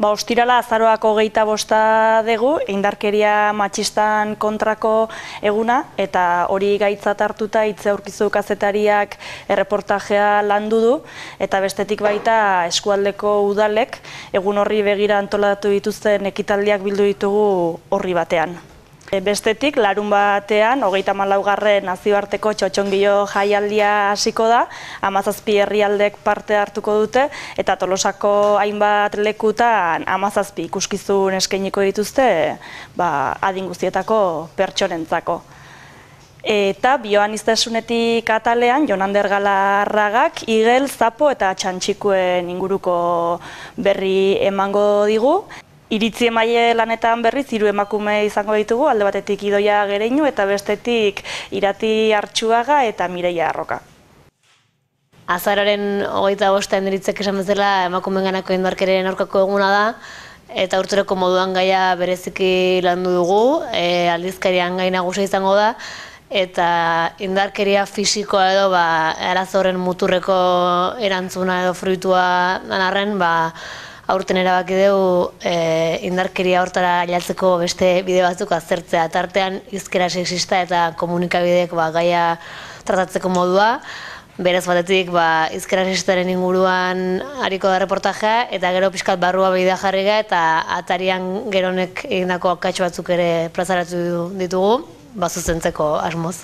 Ostirala azaroak 25 dugu, indarkeria matxistan kontrako eguna, eta hori gaitzat hartuta Itze Aurkizu kazetariak erreportajea landu du, eta bestetik baita eskualdeko udalek egun horri begira antolatu dituzten ekitaldiak bildu ditugu horri batean. Bestetik, larun batean, 34. nazioarteko txotxongilo jaialdia hasiko da, 17 herrialdek parte hartuko dute, eta Tolosako hainbat lekutan 17 ikuskizun eskainiko dituzte adin guztietako pertsonentzako. Eta bioaniztasunetik atalean, Jon Ander Galarragak igel, zapo eta txantxikuen inguruko berri emango digu. Iritzi emaile lanetan berriz 3 emakume izango ditugu, alde batetik Idoia Gereinu eta bestetik Irati Artxuaga eta Mireia Arroka. Azaroaren 25 Iritzek esan bezala emakumeenganako indarkeriaren aurkako eguna da, eta urteroko moduan gaia bereziki landu dugu, aldizkarian gai nagusia izango da, eta indarkeria fisikoa edo arazo horren muturreko erantzuna edo fruitua arren, aurten erabaki dugu indarkeria hortara ailatzeko beste bide batzuk aztertzea. Tartean hizkera sexista eta komunikabideek gaia tratatzeko modua. Berez batetik hizkera sexistaren inguruan hariko da reportajea, eta gero pixkat barrua bidea jarriga eta atarian geronek egindako akats batzuk ere plazaratu ditugu, zuzentzeko asmoz.